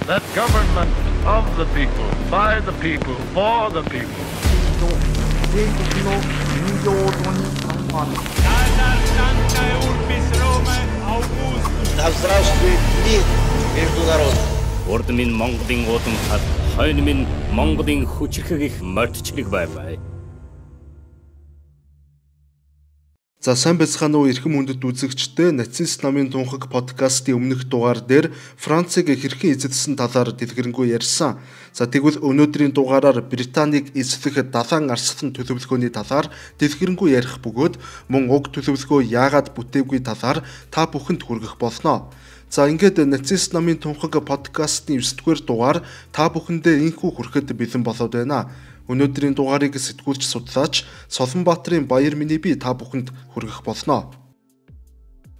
That government of the people, by the people, for the people. Здравствует мир международный. Урд минь Монголын уудам хад, хойно минь Монголын хүчрхэг их мордчлог бай. За сайн байцгаана уу эрхэм хүндэт үзэгчдээ нацист намын тунхаг подкастын өмнөх дугаар дээр Францыг хэрхэн эзэдсэн талаар дэлгэрэнгүй ярьсан. За тэгвэл өнөөдрийн дугаараар Британиг эзлэх далайн арслан төлөвлөгөөний талаар дэлгэрэнгүй ярих бөгөөд мөн уг төлөвлөгөө яагаад бүтээгүй талаар та бүхэнд хүргэх болно. За ингээд нацист намын тунхаг подкастын 9-р дугаар та бүхэндээ инхүү хүрэхэд бэлэн болоод байна. Өнөөдрийн дугаарыг сэтгүүлч судлаач Солонбаатарын баяр минийг би та бүхэнд хүргэх болно.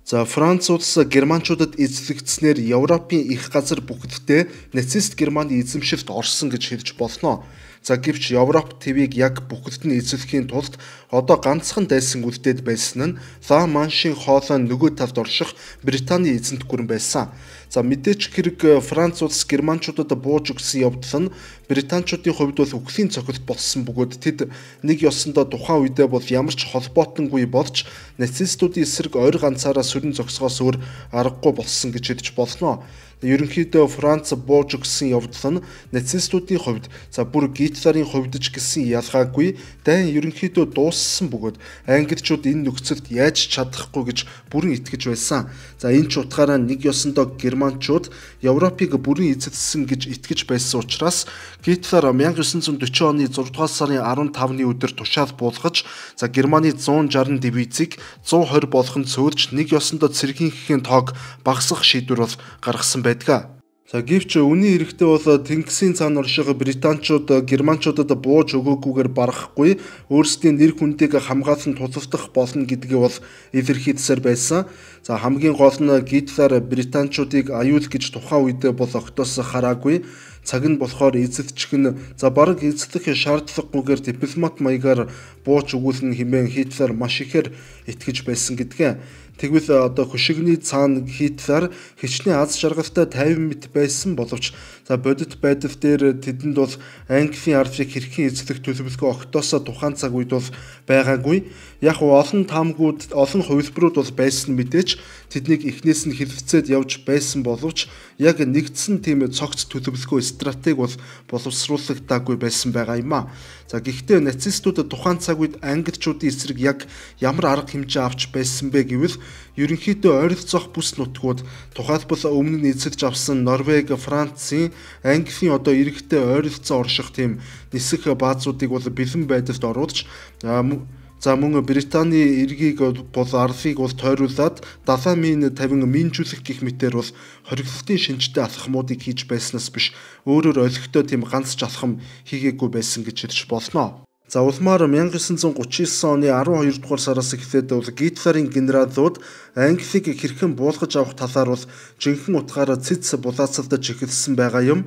За Франц улс германчуудад эзлэгдснээр Европын их газар бүгддээ нацист Германы эзэмшилд орсон гэж хэлж болно. За гэвч Европ твийг яг бүгд нь эзлэхийн тулд одоо ганцхан дайсан үлдээд байсан нь Ла Маншийн хоолой нөгөө талд орших Британий эзэнт гүрэн байсан. За мэдээч хэрэг Франц улс германчуудад бууж өгсөн явдал нь британчуудын хувьд бол үхлийн цохилт болсон бөгөөд тэд нэг ёсондоо тухайн үедээ бол ямар ч холбоотонгүй болж нацистуудын эсрэг ойр ганцаараа сүрэн зогсохоос өөр аргагүй болсон гэж хэлж болно. Ерөнхийдөө Франц бууж өгсөн явдал нь нацистуудын хувьд за бүр Гитлерийн хувьд ч гэсэн ялгаагүй дайн ерөнхийдөө дууссан бөгөөд англичууд энэ нөхцөлд яаж чадахгүй гэж бүрэн итгэж байсан. За энэ ч утгаараа нэг ёсондоо германчууд Европыг бүрэн эзэлсэн гэж итгэж байсан учраас Гитлер 1940 оны 6 дугаар сарын 15-ны өдөр тушаал буулгаж за Германы 160 дивизийг 120 болгон цөөлж нэг ёсондоо цэргийнхээ тоог багасгах шийдвэр бол гаргасан байдаг. За гэвч үүний эрэхтэй бол Тэнгисийн цаана орших британчууд германчуудад бууж өгөөгүйгээр барахгүй өөрсдийн нэр хүндийг хамгаалан тусалдах болно гэдгээ бол илэрхийлсээр байсан. За хамгийн гол нь Гитлер британчуудыг аюул гэж тухайн үед бол огтоос хараагүй. Цаг нь болохоор эзэлчих нь за бараг эзлэх шаардлагагүйгээр дипломат маягаар бууж өгүүлнэ хэмээн Хитлер маш ихээр итгэж байсан гэдгээ. Тэгвэл одоо хөшигний цаана Хитлер хичнээн аз жаргалтай 50 мэт байсан боловч за бодит байдал дээр тэдэнд бол Английн ардыг хэрхэн эзлэх төлөвлөгөө огтоосоо тухайн цаг үед бол байгаагүй. Яг олон таамгууд, олон хувилбарууд бол байсан мэдээч тэднийг эхнээс нь хэлэлцээд явж байсан боловч яг нэгдсэн тийм цогц төлөвлөгөө стратеги бол боловсруулагдаагүй байсан байгаа юм а. За гэхдээ нацистууд тухайн цаг үед англичуудын эсрэг яг ямар арга хэмжээ авч байсан бэ гэвэл ерөнхийдөө ойролцоох бүс нутгууд тухайлбал өмнө нь эзэлж авсан Норвеги, Францын, Английн одоо иргэдтэй ойролцоо орших тийм нисэх баазуудыг бол бэлэн байдалд оруулж за мөн Британий эргийг бол арлыг бол тойруулаад далайн мин 50 минжүүлэх гэх мэтээр бол хоригдлын шинжтэй алхмуудыг хийж байснаас биш өөрөөр олигтой тийм ганц ч алхам хийгээгүй байсан гэж хэлж болно. За улмаар 1939 оны 12 дугаар сараас эхлээд бол Гитлерийн генералууд Англиг хэрхэн буулгаж авах талаар бол жинхэнэ утгаараа цэц булаацалдаж эхэлсэн байгаа юм.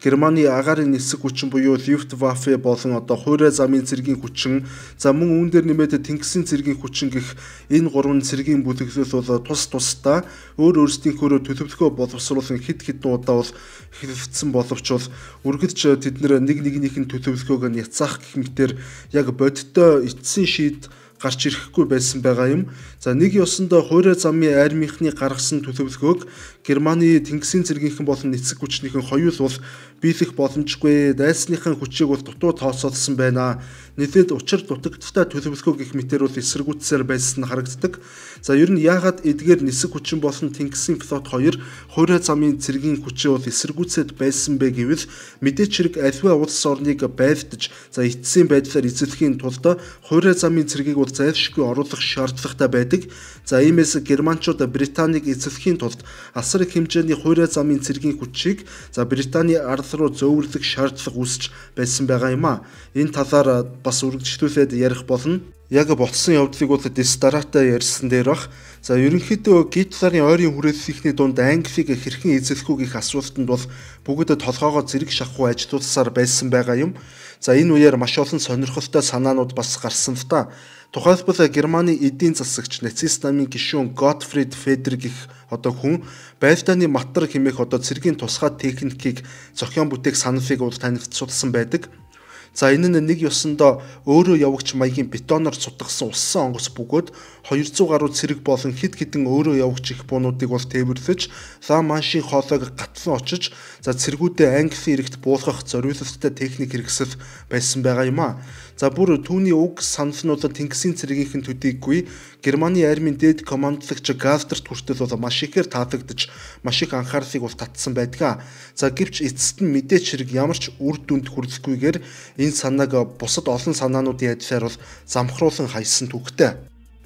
Германы агаарын нисэх хүчин буюу Люфтваффе болон одоо хуурай замын цэргийн хүчин за мөн үүн дээр нэмээд Тэнгисийн цэргийн хүчин гэх энэ гурван цэргийн бүлэглэл бол тус тусдаа өөрсдийнхөө төлөвлөгөө боловсруулан хэд хэдэн удаа бол хэлэлцсэн боловч бол үргэлж тэд нэг нэгнийхэн төлөвлөгөөг нь яцаах гэх мэтээр яг бодиттой эцсийн шийд гарч ирэхгүй байсан байгаа юм. За нэг ёсондоо хуурай замын армийнхны гаргасан төлөвлөгөөг Германы Тэнгисийн цэргийнхэн болон эцэг хүчнийхэн хоёул бол биелэх боломжгүй дайсныхын хүчийг бол дутуу тооцоолсон байна. Нийлээд учир дутагдaltaй төлөвлөгөө гэх мэтээр бол эсэргүүцсээр байсан харагддаг. За ер нь яагаад эдгээр нисэх хүчин болон Тэнгисийн флот хоёр хуурай замын цэргийн хүчээ бол эсэргүүцээд байсан бэ гэвэл мэдээч хэрэг аливаа улс орныг байлдаж за эцсийн байдлаар эзлэхийн тулд хуурай замын цэргийг бол зайлшгүй оруулах шаардлагатай байдаг. За иймээс германчууд Британиг эзлэхийн тулд асар их хэмжээний хуурай замын цэргийн хүчийг за Британий ард руу зөөвөрлөх шаардлага үүсэж байсан байгаа юм а. Энэ талаар бас үргэлжлүүлээд ярих болно. Яг ботсон явдлыг бол Дестаратай ярьсан дээр бах. За ерөнхийдөө Гитлерийн ойрын хүрээллийнхний дунд Англиг хэрхэн эзлэхүү гэх асуултанд бол бүгд толгоогоо зэрэг шахуу ажилуулсаар байсан байгаа юм. За энэ үеэр маш олон сонирхолтой санаанууд бас гарсан л та. Тухайлбал Германы эдийн засагч нацист намын гишүүн Готфрид Федер гэх хүн байлдааны матар хэмээх цэргийн тусгай техникийг зохион бүтээх саналыг танилцуулсан байдаг. За энэ нь нэг ёсондоо өөрөө явагч маягийн бетоноор цутгасан уссан онгоц бөгөөд 200 гаруй цэрэг болон хэд хэдэн өөрөө явагч их буунуудыг тээвэрлэж Ла Маншийн хоолойг гатлан очиж цэргүүдээ Английн иргэд буулгах зориулалттай техник хэрэгсэл байсан байгаа юм а. За бүр түүний уг саналнууд Тэнгисийн цэргийнхэн төдийгүй Германы армийн дээд командлагч Галтерт хүртэл маш ихээр таалагдж маш их анхаарлыг татсан байдаг. За гэвч эцэст нь мэдээч хэрэг ямар ч үр дүнд хүрэлцгүйгээр энэ санааг бусад олон санаануудын адилаар замхруулан хайсан түүхтэй.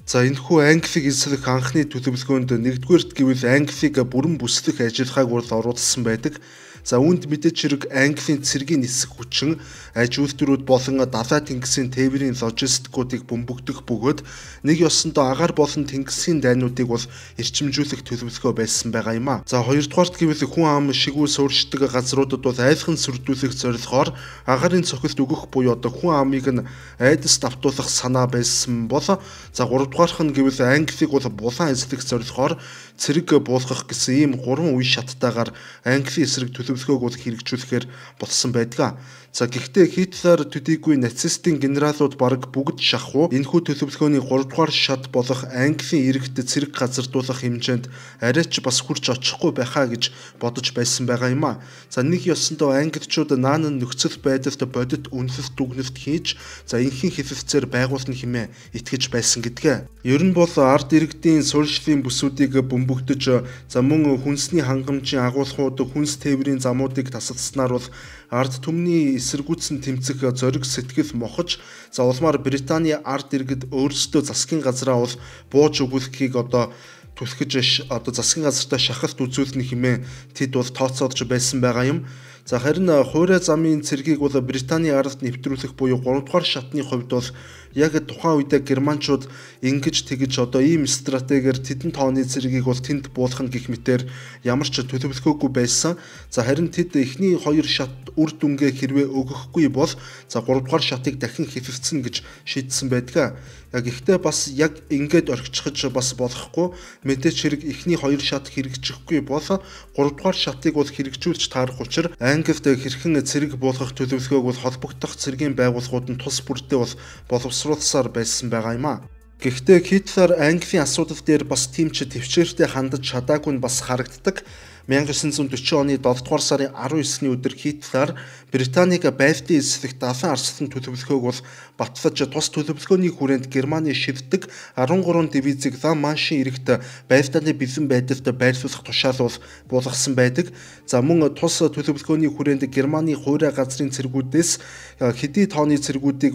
За энэхүү Англиг эзлэх анхны төлөвлөгөөнд нэгдүгээрт гэвэл Англиг бүрэн бүслэх ажиллагааг оруулсан байдаг. За үүнд мэдээж хэрэг Английн цэргийн нисэх хүчин аж үйлдвэрүүд болон далай тэнгисийн тээврийн логистикуудыг бөмбөгдөх бөгөөд нэг ёсондоо агаар болон тэнгисийн дайнуудыг эрчимжүүлэх төлөвлөгөө байсан байгаа юм а. За хоёрдугаарт гэвэл хүн ам шигүү суурьшдаг газруудад айлхан сүрдүүлэх зорилгоор агарын цохилт өгөх буюу хүн амыг нь айдас давтуулах санаа байсан бол за гуравдугаарх нь гэвэл Англиг булан эзлэх зорилгоор цэрэг буулгах гэсэн ийм 3 үе шаттайгаар Английн эсрэг төлөвлөгөөг хэрэгжүүлэхээр болсон байдаг. За гэхдээ Хитлер төдийгүй нацистын генералууд бараг бүгд шахуу энэхүү төлөвлөгөөний 3 дугаар шат болох Английн иргэд цэрэг газардуулах хэмжээнд арайч бас хүрч очихгүй байхаа гэж бодож байсан байгаа юм а. За нэг ёсондоо англичууд наан нөхцөл байдалд бодит үнэлэлт дүгнэлт хийж энхийн хэлэлцээр байгуулна хэмээн итгэж байсан гэдгээ. Ер нь бол ард иргэдийн суурьшлийн бүсүүдийг бөмбөгдөж мөн хүнсний хангамжийн агуулгууд хүнс тээврийн замуудыг тасалдсанаар бол ард түмний эсэргүүцэн тэмцэх зориг сэтгэл мохож улмаар Британий ард иргэд өөрсдөө засгийн газраа бууж өгүүлэхийг түлхэж засгийн газартаа шахалт үзүүлнэ хэмээн тэд тооцоолж байсан байгаа юм. За харин хуурай замын цэргийг Британий ард нэвтрүүлэх буюу 3 дугаар шатны хувьд яг тухайн үедээ германчууд ингэж тэгж ийм стратегиэр тэдэн тооны цэргийг тэнд буулгах гэх мэтээр ямар ч төлөвлөгөөгүй байсан. За харин тэд эхний 2 шат үр дүнгээ хэрвээ өгөхгүй бол 3 дугаар шатыг дахин хэвлэлцэн гэж шийдсэн байдаг. Гэхдээ бас яг ингээд орхичихж бас болохгүй. Мэдээч хэрэг эхний 2 шат хэрэгжихгүй бол 3 дугаар шатыг хэрэгжүүлж таарах учраа Англид хэрхэн цэрэг буулгах төлөвлөгөөг холбогдох цэргийн байгууллагууд нь тус бүрдээ боловсруулсаар байсан байгаа юм а. Гэхдээ Хитлер Английн асуудал дээр бас тийм ч төвчээртэй хандаж чадаагүй нь бас харагддаг. 1940 оны 7 дугаар сарын 19-ний өдөр Хитлер Британийг байлдын эзлэх далайн арслан төлөвлөгөөг батлаж тус төлөвлөгөөний хүрээнд Германы шивдэг 13 дивизийг Ла Маншийн иргэд байлдааны бэлэн байдалд байрлуулах тушаал буулгасан байдаг. За мөн тус төлөвлөгөөний хүрээнд Германы хуурай газрын цэргүүдээс хэдий тооны цэргүүдийг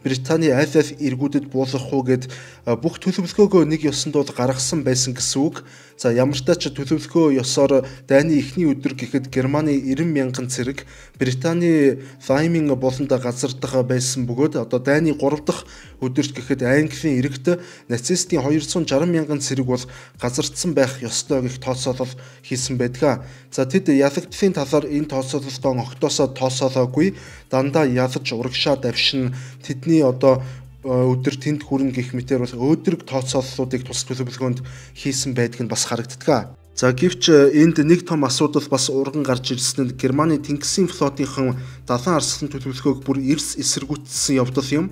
Британий аль аль иргүүдэд буулгах уу гэд бүх төлөвлөгөөгөө нэг ёсонд гаргасан байсан гэсэн үг. За ямар ч тач төлөвлөгөө ёсоор дайны эхний өдөр гэхэд Германы 90,000 цэрэг Британий Ваймин болонд газардах байсан бөгөөд дайны 3 дахь өдөрт гэхэд Английн иргэд нацистийн 260,000 цэрэг газардсан байх ёстой гэх тооцоолол хийсэн байдаг. За тэд ялагдлын талаар энэ тооцоололтоо огтоосоо тоосоолоогүй дандаа ялаж урагшаа давшин тэдний өдөр тэнд хүрнэ гэх мэтээр өөдрөг тооцооллуудыг тус төлөвлөгөөнд хийсэн байдг нь бас харагддаг. За гэвч энд нэг том асуудал бас урган гарч ирсэн нь Германы Тэнгисийн флотынхан далайн арслан төлөвлөгөөг бүр эрс эсэргүүцсэн явдал юм.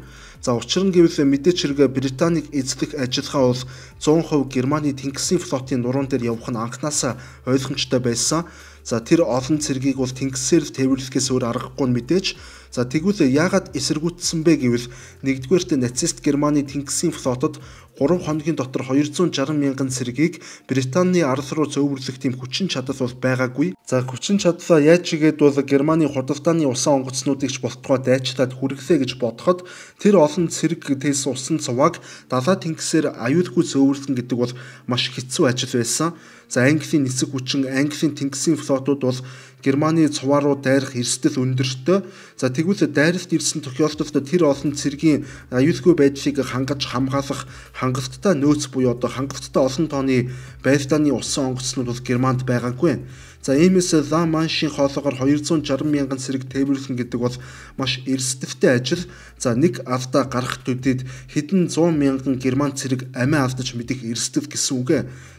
За учир нь гэвэл мэдээч хэрэг Британийг эзлэх ажиллагаа 100% Германы Тэнгисийн флотын нуруунд дээр явах нь анханасаа ойлгомжтой байсан. За тэр олон цэргийг тэнгисээр тээвэрлэхээс өөр аргагүй мэдээж. За тэгвэл яагаад эсэргүүцсэн бэ гэвэл нэгдүгээрт нацист Германы Тэнгисийн флотод 3 хоногийн дотор 260,000 цэргийг Британий арал руу зөөвөрлөх тийм хүчин чадал байгаагүй. За хүчин чадлаа яаж чигээд Германы худалдааны усан онгоцнуудыг ч болтгой дайчлаад хүргэлээ гэж бодоход тэр олон цэрэг тэс усан цуваг далай тэнгисээр аюулгүй зөөвөрлөн гэдэг маш хэцүү ажил байсан. За Английн нисэх хүчин Английн Тэнгисийн флотууд Германы цуваа руу дайрах эрсдэл өндөртэй. За тэгвэл дайралт ирсэн тохиолдолд тэр олон цэргийн аюулгүй байдлыг хангаж хамгаалах хангалттай нөөц буюу одоо хангалттай олон тооны байртааны усан онгоцнууд бол Германд байгаагүй. За иймээс Ла Маншийн хоолоогоор 260 мянган цэрэг тээвэрлэн гэдэг бол маш эрсдэлтэй ажил. За нэг алдаа гарах төдийд хэдэн 100 мянган герман цэрэг амиа алдаж мэдих эрсдэл гэсэн үг.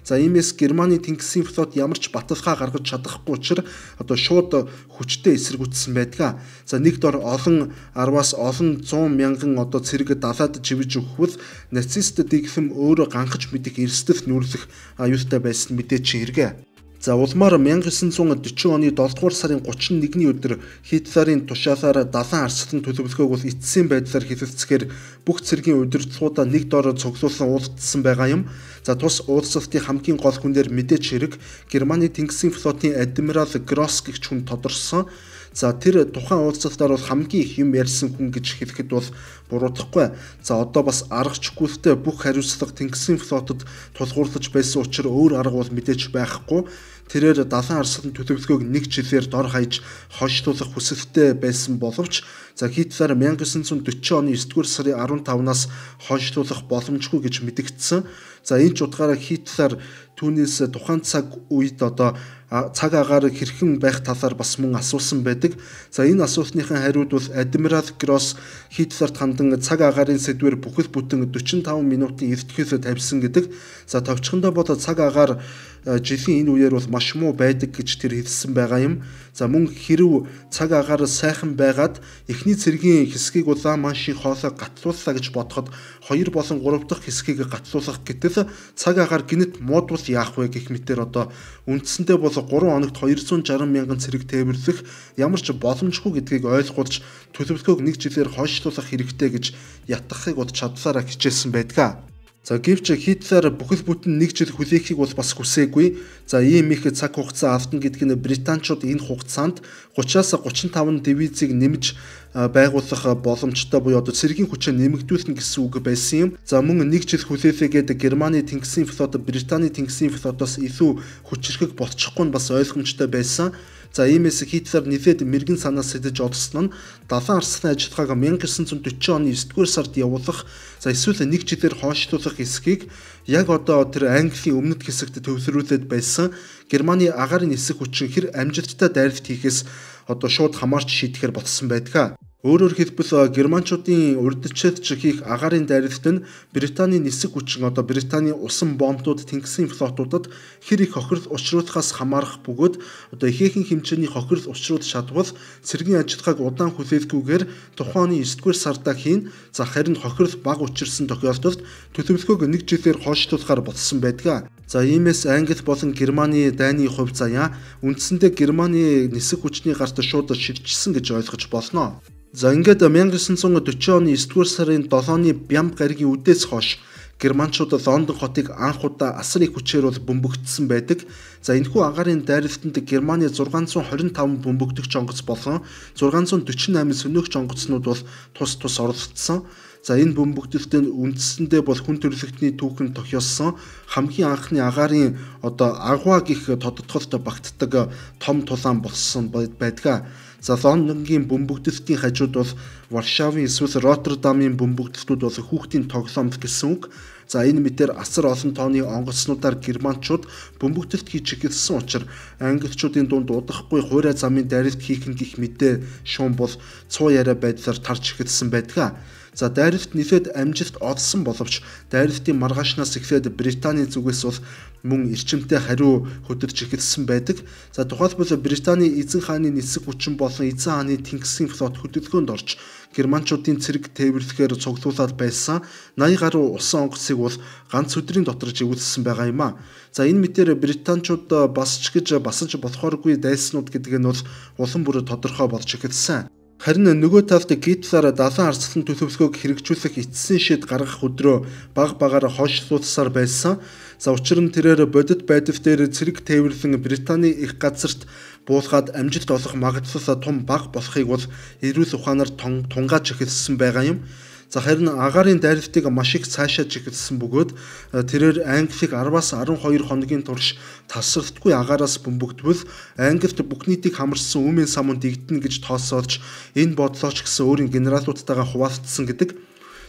За иймээс Германы тэнгисийн флот ямар ч баталгаа гаргаж чадахгүй учраас одоо шууд хүчтэй эсэргүүцсэн байдаг. За нэг дор олон 10-аас олон 100 мянган одоо цэрэг далаад живж өгөхвөл нацист дэгхэм өөрөө ганхаж мэдих эрсдэл нүүрлэх аюултай байсан мэдээч хэрэг. За улмаар 1940 оны 7 дугаар сарын 31-ний өдөр Хитлерийн тушаалаар далайн арслан төлөвлөгөөг бол эцсийн байдлаар хэлэлцэхээр бүх цэргийн удирдлагуудаа нэг доор цуглуулсан уулздсан байгаа юм. За тус уулзалтын хамгийн гол хүнээр мэдээч хэрэг Германы тэнгисийн флотын адмирал Гросс гэгч хүн тодорсон. За тэр тухайн уулзалтаар бол хамгийн их юм ярьсан хүн гэж хэлэхэд бол буруудахгүй. За одоо бас аргачгүйтэй бүх хариуцлага тэнгисийн флотод тулгуурлаж байсан учраас өөр арга бол мэдээж байхгүй. Тэрээр далайн арслан төлөвлөгөөг нэг жилээр дор хаяж хойшлуулах хүсэлтэй байсан боловч за Хитлер 1940 оны 9-р сарын 15-наас хойшлуулах боломжгүй гэж мэдэгдсэн. За энэ ч утгаараа Хитлер түүнээс тухайн цаг үед одоо цаг агаар хэрхэн байх талаар бас мөн асуусан байдаг. За энэ асуултныхаа хариуд бол адмирал Гросс Хитлерт хандан цаг агаарын сэдвээр бүхэл бүтэн 45 минутын эртхийлэл тавьсан гэдэг. За товчхондоо бол цаг агаар жилийн энэ үеэр бол маш муу байдаг гэж тэр хэлсэн байгаа юм. За мөн хэрв цаг агаар сайхан байгаад эхний цэргийн хэсгийг Ла Маншийн хоолой гатлууллаа гэж бодоход 2 болон 3 дахь хэсгийг гатлуулах гэтэл цаг агаар гинэт муудвал яах вэ гэх мэтээр одоо үндсэндээ бол 3 хоногт 260 мянган цэрэг тээвэрлэх ямар ч боломжгүй гэдгийг ойлгуулж төлөвлөгөөг нэг жилээр хойшлуулах хэрэгтэй гэж ятгахыг бод чадлаараа хичээсэн байдаг. За гэвч Хитлер бүхэл бүтэн нэг жил хүлээхийг бол бас хүсээгүй. За ийм их цаг хугацаа автна гэдэг нь британчууд энэ хугацаанд 30-аас 35 дивизийг нэмж байгуулах боломжтой буюу одоо цэргийн хүчээ нэмэгдүүлнэ гэсэн үг байсан юм. За мөн нэг жил хүлээлгээд Германы тэнгисийн флот Британий тэнгисийн флотоос илүү хүчрхэг болчихгүй нь бас ойлгомжтой байсан. За иймээс Хитлер нэлээд мэрэгэн санаа сэтэж одсон нь далайн арслан ажиллагааг 1940 оны 9-р сард явуулах за эсвэл нэг жилээр хойшлуулах эсхийг яг одоо тэр Английн өмнөд хэсэгт төвлөрүүлээд байсан Германы агаарын нисэх хүчин хэр амжилттай дайралт хийхээс одоо шууд хамаарч шийдэхээр болсон байдаг. Өөрөөр хэлбэл германчуудын урдчилж хийх агаарын дайралт нь Британий нисэх хүчин одоо Британий усан бомбууд тэнгисийн флотуудад хэр их хохирол учруулахаас хамаарах бөгөөд одоо ихээхэн хэмжээний хохирол учруулж чадвал цэргийн ажиллагааг удаан хүлээлгүйгээр тухайн оны 9-р сардаа хийн. За харин хохирол бага учирсан тохиолдолд төлөвлөгөөг нэг жилээр хойшлуулахаар болсон байдаг. За иймээс Англи болон Германы дайны хувь заяа үндсэндээ Германы нисэх хүчний гарт шууд ширчсэн гэж ойлгож болно. За ингээд 1940 оны 9-р сарын 7-ны Бямб гаригийн үдээс хойш германчууд Лондон хотыг анх удаа асар их хүчээр бол бөмбөгдсөн байдаг. За энэхүү агаарын дайралтанд Германы 625 бөмбөгдөгч онгоц болон 648 сөнөөгч онгоцнууд бол тус оролцсон. За энэ бөмбөгдөлтөнд үндсэндээ бол хүн төрөлхтний түүхэн тохиолсон хамгийн анхны агаарын одоо агва гих тодтолт багтдаг том тулаан болсон байдаг. За Лондонгийн бөмбөгдөлтийн хажууд бол Варшавын эсвэл Роттердамын бөмбөгдөлтүүд бол хүүхдийн тоглоомт гэсэн үг. За энэ мэтэр асар олон тооны онгоцнуудаар германчууд бөмбөгдөлт хийж эхэлсэн учраас англичуудын дунд удахгүй хуурай замын дайралт хийх гэх мэдээ шуум бол цуу яриа байдлаар тарж эхэлсэн байдаг. За дайралт нэлээд амжилт олсон боловч дайралтын маргаашнаас эхлээд Британий зүгээс бол мөн эрчимтэй хариу хөдөлж эхэлсэн байдаг. За тухайлбал Британий эзэн хааны нисэх хүчин болон эзэн хааны тэнгисийн флот хөдөлгөөнд орж германчуудын цэрэг тээвэрлэхээр цуглуулад байсан 80 гаруй усан онгоцыг бол ганц өдрийн дотор живүүлсэн байгаа юм а. За энэ мэтээр британчууд басж гэж басаж болохооргүй дайснууд гэдэг нь бол улам бүр тодорхой болж эхэлсэн. Харин нөгөө талд Гитлер далайн арслан төлөвлөгөөг хэрэгжүүлэх эцсийн шийд гаргах өдрөө баг багаар хойшлуулсаар байсан. За учир нь тэрээр бодит байдал дээр цэрэг тээвэрлэн Британий их газарт буулгаад амжилт олох магадлал том бага болохыг бол эрүүл ухаанаар тунгааж эхэлсэн байгаа юм. За харин агаарын дайралтыг маш их цаашаа чиглэсэн бөгөөд тэрээр Англиг 10-аас 12 хоногийн турш тасралтгүй агаараас бөмбөгдвөл Англид бүх нийтийг хамарсан үмийн самун дэгдэнэ гэж тооцоолж энэ бодлооч гэсэн өөрийн генералуудтайгаа хуваалцсан гэдэг.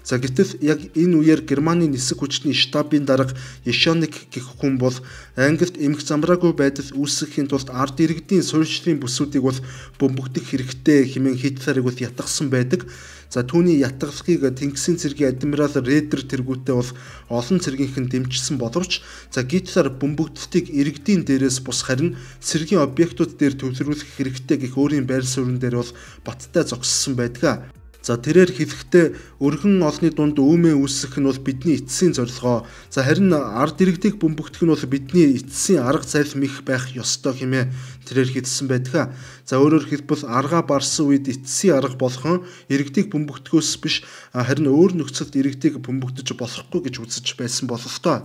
За гэтэл яг энэ үеэр Германы нисэх хүчний штабын дарга Ешоник гэх хүн бол Англид эмх замраагүй байдал үүсгэхийн тулд ард иргэдийн суурьшлийн бүсүүдийг бол бөмбөгдөх хэрэгтэй хэмээн Хитлерийг бол ятгсан байдаг. За түүний ятгалахыг Тэнгисийн цэргийн адмирал Редер тэргүүтээ бол олон цэргийнхэн дэмжсэн боловч за Гитлер бөмбөгдөлтийг иргэдийн дээрээс бус харин цэргийн объектууд дээр төвлөрүүлэх хэрэгтэй гэх өөрийн байр суурин дээр бол баттай зогссон байдаг. За тэрээр хэлэхдээ өргөн олны дунд үүмээ үүсгэх нь бол бидний эцсийн зорилгоо. За харин ард иргэдийг бөмбөгдөх нь бол бидний эцсийн арга зайлм их байх ёстой хэмээн тэрээр хэлсэн байдаг. За өөрөөр хэлбэл аргаа барсан үед эцсийн арга болгон иргэдийг бөмбөгдөхөөс биш харин өөр нөхцөлд иргэдийг бөмбөгдөж болохгүй гэж үзэж байсан бололтой.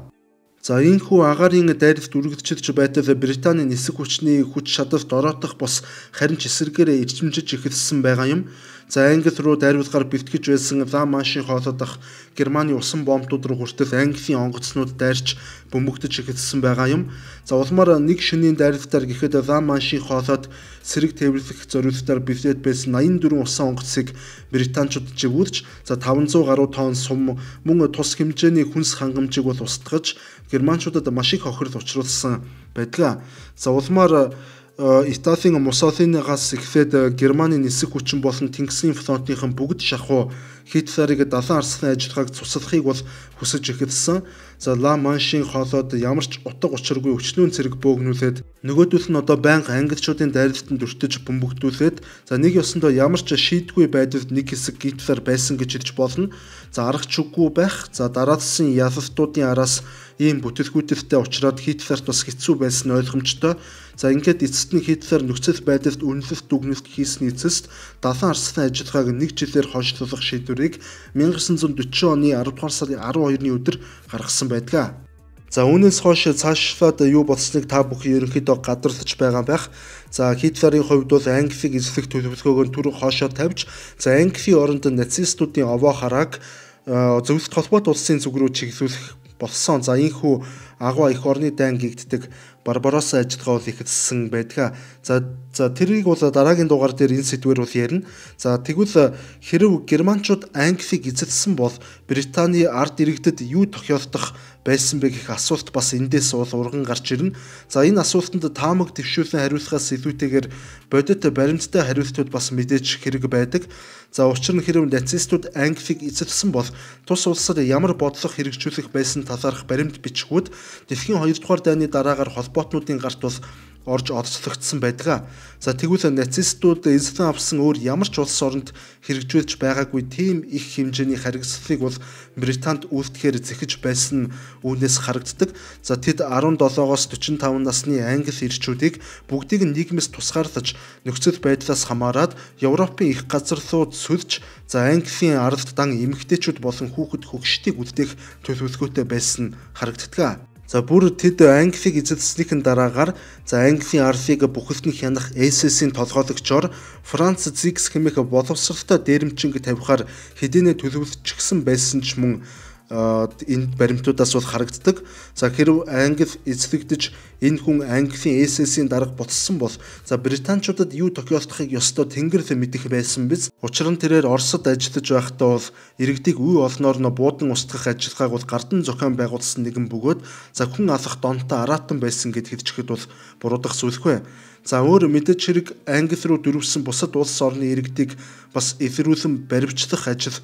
За энэхүү агаарын дайралт үргэлжилж байтал Британий нисэх хүчний хүч чадалд ороодох бос харин ч эсэргээрээ эрчимжиж эхэлсэн байгаа юм. За Англи руу дайруулгаар бэлтгэж байсан Ла Маншийн хоолой дах Германы усан бомбууд руу хүртэл Английн онгоцнууд дайрч бөмбөгдөж эхэлсэн байгаа юм. За улмаар нэг шөнийн дайралтаар гэхэд Ла Маншийн хоолойд сэрэг тээвэрлэх зорилтоор бэлдээд байсан 84 усан онгоцыг британчууд живүүлж за 500 гаруй тонн сум мөн тус хэмжээний хүнс хангамжийг бол устгаж германчуудад маш их хохирол учруулсан байдаг. За улмаар Италийн Муссолинигаас эхлээд Германы нисэх хүчин болон Тэнгисийн флотынхан бүгд шахуу Хитлерийг далайн арслан ажиллагааг цуслахыг бол хүсэж эхэлсэн. За Ла Маншийн хоолойд ямар ч утга учиргүй өчнүүн цэрэг бөөгнүүлээд нөгөөдөл нь одоо байнга англичуудын дайралтанд өртөж бөмбөгдүүлээд за нэг ёсондоо ямар ч шийдгүй байдалд нэг хэсэг Гитлер байсан гэж хэлж болно. За аргач үгүй байх. За дараалсан ялалтуудын араас ийм бүтэцгүүтэлтэй уулзраад Хитлерт бас хэцүү байсан ойлгомжтой. За ингээд эцэст нь Хитлер нөхцөл байдалд үнэлэлт дүгнэлт хийсний эцэст далайн арслан ажиллагааг нэг жилээр хойшлуулах шийдвэрийг 1940 оны 10 дугаар сарын 12-ны өдөр гаргасан байдаг. За үүнээс хойш цаашлаад юу болсныг та бүхэн ерөнхийдөө гадарлаж байгаа байх. За Хитлерийн хувьд бол Англиг эзлэх төлөвлөгөөгөө түр хоошоо тавьж за Английн оронд нацистуудын овоо харааг зөвлөлт холбоот улсын зүг рүү чиглүүлэх болсон. За ийхүү агуу их орны дайн гэгддэг Барбаросса ажиллагаа бол ихэлсэн байдаг. За тэрийг бол дараагийн дугаар дээр энэ сэдвээр бол ярина. За тэгвэл хэрв германчууд Англиг эзэлсэн бол Британий ард иргэдэд юу тохиолдох байсан бэ гэх асуулт бас эндээс бол урган гарч ирнэ. За энэ асуултанд таамаг төвшүүлэн хариулахаас илүүтэйгээр бодит баримттай хариултууд бас мэдээж хэрэг байдаг. За учир нь хэрв нацистууд Англиг эзэлсэн бол тус улсад ямар бодлого хэрэгжүүлэх байсан талаарх баримт бичгүүд дэлхийн 2 дугаар дайны дараагаар холбоотнуудын гарт бол орж олцлогдсон байдаг. За тэгвэл нацистууд эзлэн авсан өөр ямар ч улс оронд хэрэгжүүлж байгаагүй тийм их хэмжээний харгислалыг бол Британд үйлдэхээр зэхэж байсан үүнээс харагддаг. За тэд 17-оос 45 насны англи ирчүүдийг бүгдийг нийгмээс тусгаарлаж нөхцөл байдлаас хамаарад Европын их газар руу сүлж за Английн аралд дан эмэгтэйчүүд болон хүүхэд хөгшдийг үлдээх төлөвлөгөөтэй байсан харагддаг. За бүр тэд Англиг эзэлснийхэн дараагаар за Английн арлыг бүхэлдэн хянах SS-ийн толгойлогчоор Франц Зикс хэмээх боловсралтай дээрэмчинг тавихаар хэдийнэ төлөвлөжчихсэн байсан ч мөн энэ баримтуудаас бол харагддаг. За хэрв Англи эзлэгдэж энэ хүн Английн SS-ийн дарга ботсон бол за британчуудад юу тохиолдохыг ёстой тэнгэр л мэдэх байсан биз. Учир нь тэрээр Оросд ажиллаж байхдаа бол иргэдийг үе олноор нь буудан устгах ажиллагааг бол гардан зохион байгуулсан нэгэн бөгөөд за хүн алах донтой аратан байсан гэд хэлжихэд бол буруудах зүйлгүй. За өөр мэдээж хэрэг Англи руу дөрвсөн бусад улс орны иргэдийг бас илрүүлэн баривчлах ажил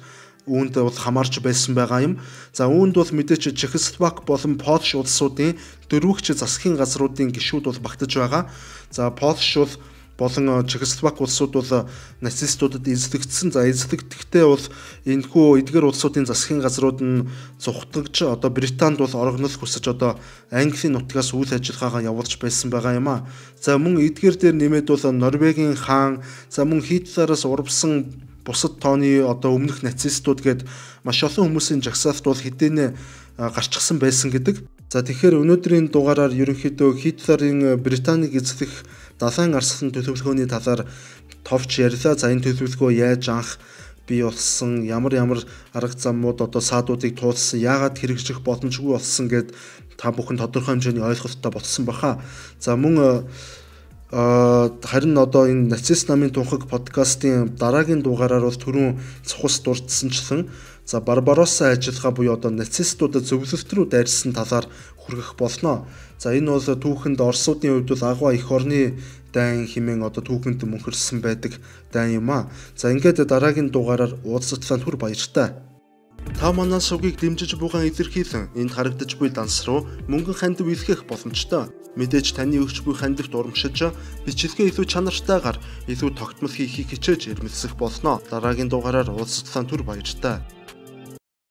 үүнд бол хамаарч байсан байгаа юм. За үүнд бол мэдээж Чехословак болон Польш улсуудын дөрвөгч засгийн газруудын гишүүд бол багтаж байгаа. За Польш болон Чехословак улсууд бол нацистуудад эзлэгдсэн. За эзлэгдэхдээ бол энэхүү эдгээр улсуудын засгийн газрууд нь цухтагч одоо Британд бол орогнол хүсэж одоо Английн нутгаас үйл ажиллагаагаа явуулж байсан байгаа юм а. За мөн эдгээр дээр нэмээд бол Норвегийн хаан, за мөн Хитлераас урвсан бусад тооны одоо өмнөх нацистууд гээд маш олон хүмүүсийн жагсаалт бол хэдийнэ гарчсан байсан гэдэг. За тэгэхээр өнөөдрийн дугаараар ерөнхийдөө Хитлерийн Британийг эзлэх далайн арслан төлөвлөгөөний талаар товч ярьлаа. За энэ төлөвлөгөө яаж анх бий болсон, ямар арга замууд одоо саадуудыг туулсан, яагаад хэрэгжих боломжгүй болсон гэд та бүхэн тодорхой хэмжээний ойлголттой болсон баха. За мөн харин одоо энэ нацист намын тунхаг подкастын дараагийн дугаараар бол түрүүн цухас дурдсанчлан за Барбаросса ажиллагаа буюу одоо нацистуудад зөвлөлт рүү дайрсан талаар хүргэх болно. За энэ бол түүхэнд Оросуудын хувьд бол агуу их орны дайн хэмээн одоо түүхэнд мөнхөрсөн байдаг дайн юм а. За ингээд дараагийн дугаараар уулзалтанд хүр баяртай. Та манай шугийг дэмжиж бугаан илэрхийлэн энд харагдаж буй данс руу мөнгөн хандив илгээх боломжтой. Мэдээж таны өгч буй хандивт урамшиж бичлэгээ илүү чанартайгаар илүү тогтмол хийхийг хичээж ирмэлцэх болно. Дараагийн дугаараар уулзалтанд хүр баяртай.